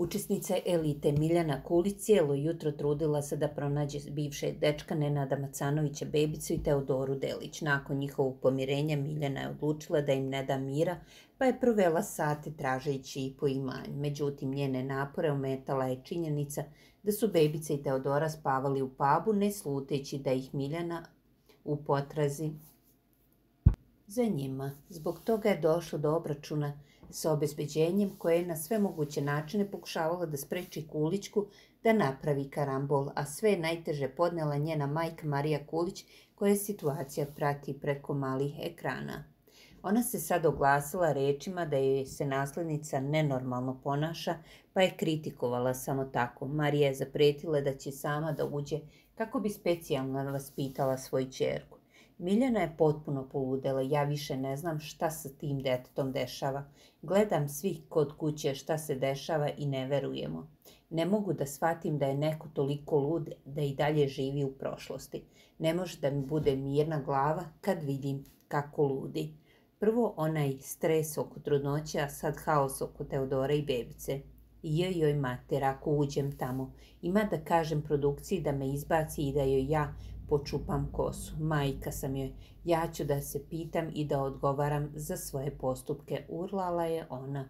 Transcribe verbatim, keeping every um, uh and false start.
Učesnica elite Miljana Kulić cijelo jutro trudila se da pronađe bivšeg dečka Nenada Macanovića bebicu i Teodoru Delić. Nakon njihovog pomirenja Miljana je odlučila da im ne da mira, pa je provela sate tražeći i po imanju. Međutim, njene napore ometala je činjenica da su bebica i Teodora spavali u pubu, ne sluteći da ih Miljana u potrazi za njima. Zbog toga je došlo do obračuna sa obezbeđenjem koje je na sve moguće načine pokušavala da spreči Kulićku da napravi karambol, a sve je najteže podnela njena majka Marija Kulić koja situacija prati preko malih ekrana. Ona se sad oglasila rečima da joj se naslednica nenormalno ponaša, pa je kritikovala samo tako. Marija je zapretila da će sama da uđe kako bi specijalno vaspitala svoju ćerku. Miljana je potpuno poludela, ja više ne znam šta se tim detetom dešava. Gledam svi kod kuće šta se dešava i ne verujemo. Ne mogu da shvatim da je neko toliko lud da i dalje živi u prošlosti. Ne može da mi bude mirna glava kad vidim kako ludi. Prvo onaj stres oko trudnoće, a sad haos oko Teodora i bebice. Joj, joj mater, ako uđem tamo, ima da kažem produkciji da me izbaci i da joj ja počupam kosu. Majka sam joj, ja ću da se pitam i da odgovaram za svoje postupke, urlala je ona.